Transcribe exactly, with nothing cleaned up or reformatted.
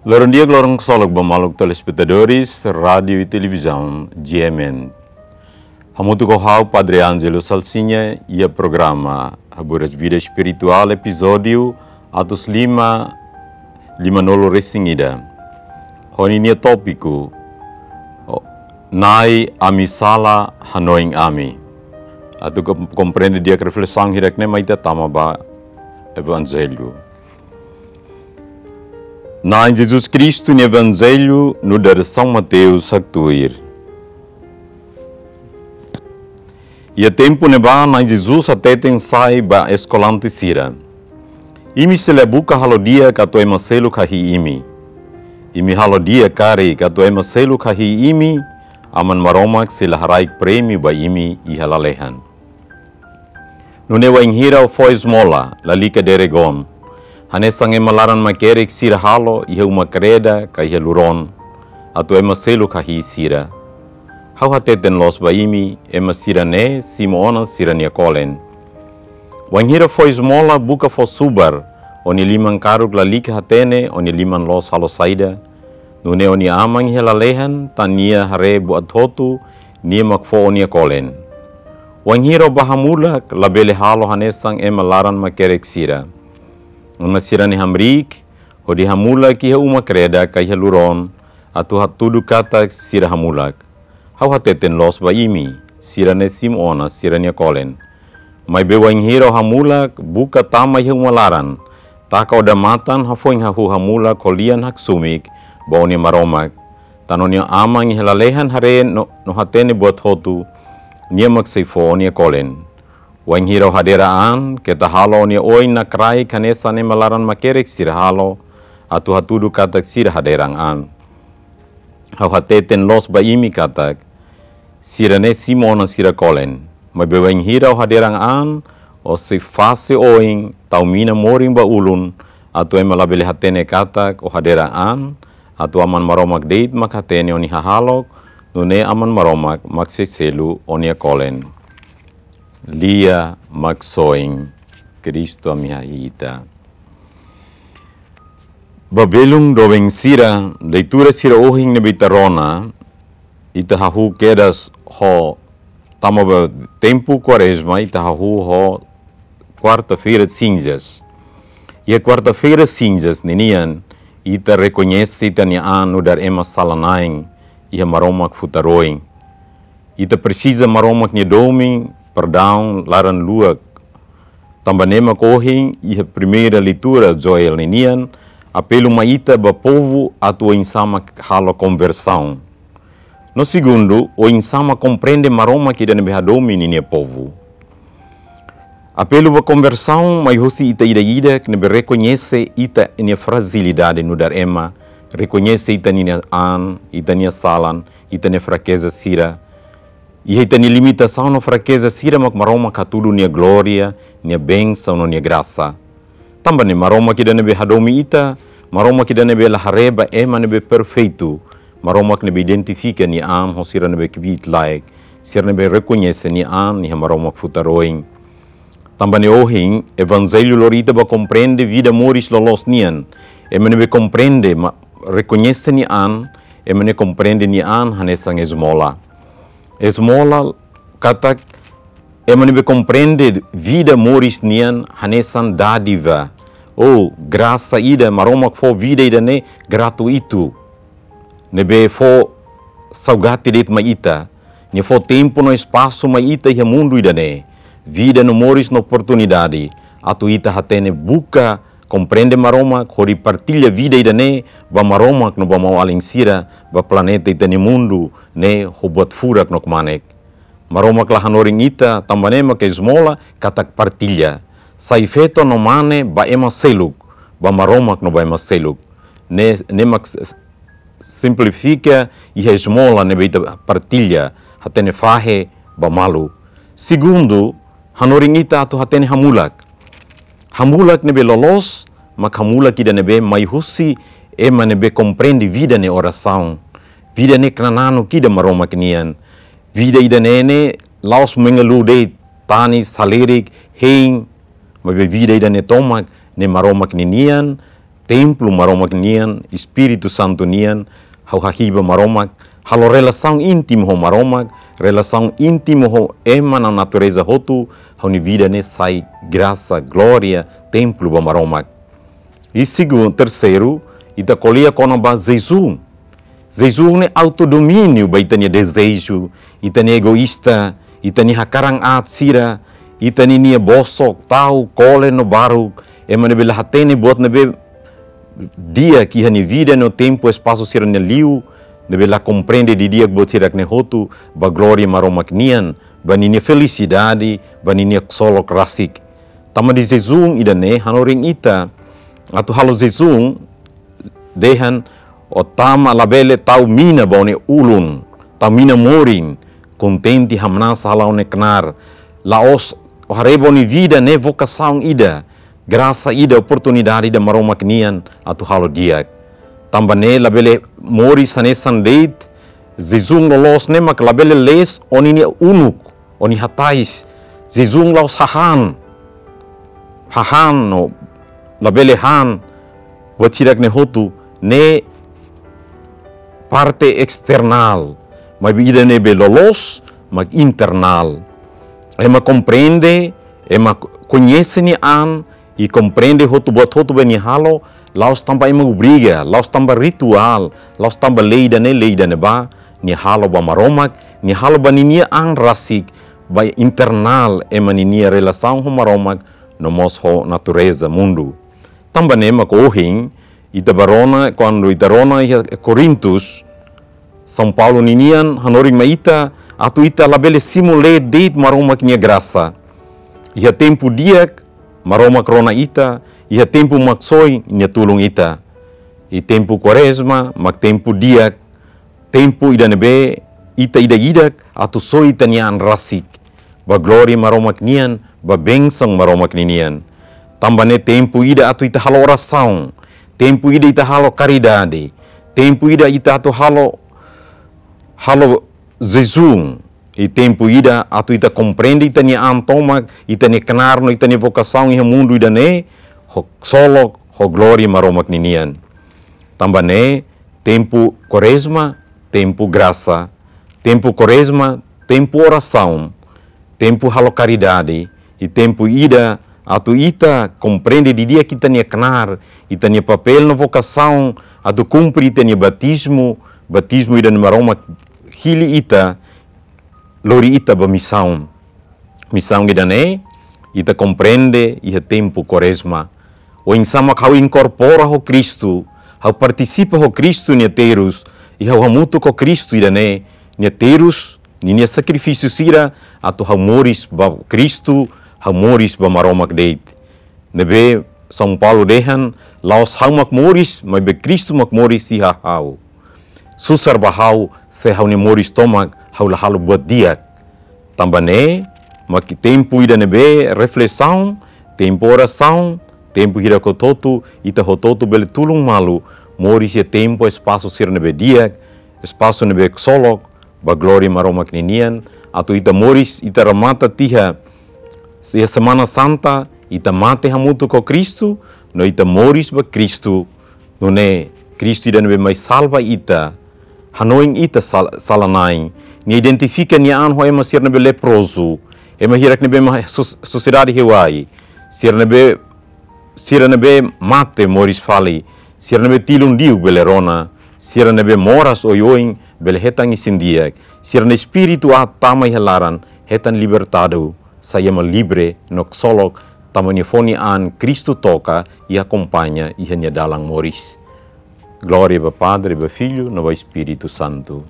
Loron di'ak, loron ksolok ba maluk telespetadores Rádiu i Televizaun G M N. Hamutuk ho ha'u Padre Ângelo Salsinha iha programa Haburas Vida Espirituál, epizódiu atus lima, lima-nulu resin ida. Ho ninia tópiku, o, Na'i, ami sala, hanoin ami. Atu kom-, komprende di'ak reflesaun hirak-ne'e, mai ita tama ba Evanjellu. Na'i Jesus Kristu nia Evanjellu nu'udar São Mateus haktuir. Iha tempu ne'ebá Na'i Jesus hateten sai ba eskolante sira: Imi sei la buka halo di'ak atu ema seluk hahi'i imi. Imi halo di'ak karik atu ema seluk hahi'i imi, Aman Maromak sei la haraik prémiu ba imi iha lalehan. Nune'e wainhira ó fó esmola, lalika derek-oan, hanesan ema laran makerek sira halo iha uma-kreda ka iha lurón, atu ema seluk hahi'i sira. Ha'u hateten loos ba imi, ema sira-ne'e simu ona sira-nia kolen. Wainhira fó esmola, buka fó subar, ó-nia liman karuk lalika hatene ó-nia liman loos halo saida, nune'e ó-nia Aman iha lalehan, tan Nia haree buat hotu, Nia mak fó ó-nia kolen. Wainhira ó bá hamulak, labele halo hanesan ema laran makerek sira. Ona sira-ne'e hamriik, hodi hamulak iha uma-kreda ka iha lurón, atu hatudu katak sira hamulak. Ha'u hateten loos ba imi, sira-ne'e simu ona sira-nia kolen. Maibé wainhira ó hamulak, buka tama iha uma laran, taka odamatan hafoin hahú hamulak ho lian haksoit ba ó-nia Maromak. Tan ó-nia Aman iha lalehan haree no, no hatene buat hotu, Nia mak sei fó ó-nia kolen. Wainhira ó hadeer an, keta halo ó-nia oin nakraik hanesan ema laran makerek sira halo, atu hatudu katak sira hadeer an. Ha'u hateten loos ba imi katak sira-ne'e simu ona sira kolen. Maibé wainhira ó hadeer an, ó sei fase oin, tau mina morin ba ulun, atu ema labele hatene katak ó hadeer an, atu Aman Maromak de'it mak hatene ó-nia hahalok, nune'e Aman Maromak mak sei selu ó-nia kolen. Lia Maksoin Kristu ami-nia Ita. Ba belun doben sira, leitura sira ohin ne'ebé ita rona, ita hahú kedas ho, tama ba tempu Kuarezma, ita hahú ho Kuarta-feira Sinzas. Iha Kuarta-feira Sinzas ninian, ita rekoñese ita-nia an nu'udar ema sala-na'in iha Maromak futar oin. Ita presiza Maromak nia domin, perdaun, laran-luak. Tanba ne'e mak ohin iha primeira leitura Joel ninian, apelu mai ita ba povu atu oinsá mak halo konversaun. No segundu, oinsá mak komprende Maromak ida ne'ebé hadomi ninia povu. Apelu ba konversaun mai husi ita ida-idak ne'ebé rekoñese ita-nia frajilidade nu'udar ema, rekoñese ita-nia an, ita-nia salan, ita-nia frakeza sira. Iha ita-nia limitasaun no frakeza sira mak Maromak hatudu nia glória, nia bensaun no nia grasa. Tanba ne'e Maromak ida ne'ebé hadomi ita, Maromak ida ne'ebé la haree ba ema ne'ebé perfeitu, Maromak ne'ebé identifika nia an ho sira ne'ebé kbiit-laek, sira ne'ebé rekoñese nia an iha Maromak futar oin. Tanba ne'e ohin, Evanjellu lori ita ba komprende vida moris loloos nian. Ema ne'ebé komprende, ma-, rekoñese nia an, ema ne'e komprende nia an hanesan ezmola. Ezmola katak ema ne'ebé komprende vida moris nian hanesan dádiva. Ou grasa ida, Maromak fó vida ida-ne'e gratuitu. Ne'ebé fó saugati de'it mai ita. Nia fó tempu no espasu mai ita iha mundu ida-ne'e. Vida no moris no oportunidade atu ita hatene buka komprende Maromak, hodi partilla vida ida-ne'e ba Maromak no ba maun-alin sira, ba planeta ita-nia mundu ne'e ho buat furak no kmanek. Maromak la hanorin ita, tanba ne'e mak ezmola katak partilla. Sai feto no mane ba ema seluk, ba Maromak no ba ema seluk. Ne'e, ne'e mak s-, s-, simplifika iha ezmola ne'ebé ita partilla, hatene fahe ba malu. Segundu, hanorin ita atu hatene hamulak. Hamulak ne'ebé loloos, mak hamulak ida ne'ebé mai husi ema ne'ebé komprende vida nia orasaun. Vida ne'e knananuk ida Maromak nian. Vida ida-ne'e ne'e la'ós mengeluh de'it, tanis, halerik, hein, maibé vida ida-ne'e tomak ne'e Maromak ninian, templu Maromak nian, Espíritu Santu nian, ha'u hahi'i ba Maromak, halo relasaun íntimu ho Maromak, relasaun íntimu ho ema no natureza hotu, ha'u-nia vida ne'e sai grasa, glória, templu ba Maromak. I segundu, terseiru, ita ko'alia kona-ba jejún. Jejún ne'e autodomíniu ba ita-nia dezeju, ita-nia egoísta, ita-nia hakarak aat sira, ita-nia nia bosok, ta'uk, kole no baruk, ema ne'ebé la hatene buat ne'ebé di'ak iha nia vida no tempu espasu sira-ne'e liu, ne'ebé la komprende didi'ak buat hirak-ne'e hotu, ba glória Maromak nian, ba ninia felisidade, ba ninia ksolok rasik. Tanba ne'e jejún ida-ne'e hanorin ita atu halo jejún, dehan ó tama, labele tau mina ba ó-nia ulun, tau mina morin, kontente hamnasa hala'o ó-nia knaar. La'ós ó haree ba ó-nia vida ne'e vokasaun ida, grasa ida, oportunidade ida Maromak nian atu halo di'ak. Tanba ne'e labele moris hanesan de'it, jejún loloos ne'e mak labele lees ó-nia uluk, ó-nia hatais, jejún la'ós hahán, hahán no labele han, buat hirak-ne'e hotu, ne'e parte esternál, maibé ida ne'ebé loloos mak internál. Ema komprende, ema koñese nia an, i komprende hotu buat hotu be nia halo, la'ós tanba ema obriga, la'ós tanba rituál, la'ós tanba lei ida-ne'e, lei ida-ne'ebá, nia halo ba Maromak, nia halo ba ninia an rasik, ba internál ema ninia relasaun ho Maromak, no mós ho natureza mundu. Tanba ne'e mak ohin, ita bá rona, kuandu ita rona iha Korintus, São Paulo ninian hanorin mai ita, atu ita labele simu leet de'it Maromak nia grasa. Iha tempu di'ak, Maromak rona ita, iha tempu maksoin nia tulun ita. I tempu Kuarezma mak tempu di'ak, tempu ida ne'ebé ita ida-idak atu soi ita-nia an rasik ba glória Maromak nian, ba bensaun Maromak ninian. Tanba ne'e tempu ida atu ita halo orasaun, tempu ida ita halo karidade, tempu ida ita atu halo, halo jejún, i tempu ida atu ita komprende ita-nia an tomak, ita-nia knaar no ita-nia vokasaun iha mundu ida-ne'e, ho ksolok, ho glória Maromak ninian. Tanba ne'e, tempu Kuarezma, tempu grasa, tempu Kuarezma, tempu orasaun, tempu halo karidade, i tempu ida atu ita komprende didi'ak ita-nia knaar, ita-nia papél no vokasaun, atu kumpre ita-nia batizmu, batizmu ida ne'ebé Maromak hili ita, lori ita ba misaun. Misaun ida-ne'e, ita komprende iha tempu Kuarezma. Oinsá mak ha'u inkorpora ho Kristu, ha'u partisipa ho Kristu nia terus, i ha'u hamutuk ho Kristu ida-ne'e, nia terus, ninia sakrifísiu sira, atu ha'u moris ba Kristu, ha'u moris ba Maromak de'it. Ne'ebé São Paulo dehan, la'ós ha'u mak moris, maibé Kristu mak moris iha ha'u. Susar ba ha'u, se ha'u-nia moris tomak, ha'u la halo buat di'ak. Tanba ne'e, mak tempu ida ne'ebé reflesaun, tempu orasaun, tempu hirak hotu-hotu, ita hotu-hotu bele tulun malu, moris iha tempu espasu sira ne'ebé di'ak, espasu ne'ebé ksolok, ba glória Maromak ninian, atu ita moris, ita remata tiha, iha Semana Santa, ita mate hamutuk ho Kristu, no ita moris ba Kristu, nune'e Kristu ida ne'ebé mai salva ita, hanoin ita sal-, sala-na'in, nia identifika nia an ho ema sira ne'ebé leprozu, ema hirak ne'ebé mai sos-, sosiedade heuai, sira ne'ebé, sira ne'ebé mate moris fali, sira ne'ebé tilun diuk bele rona, sira ne'ebé moras oioin bele hetan isin-di'ak, sira ne'ebé espíritu aat tama iha laran hetan libertadu, sai ema livre no ksolok, tanba nia fó nia an Kristu toka i akompaña iha nia dalan moris. Glória ba Padre, ba Filho, no ba Espíritu Santu.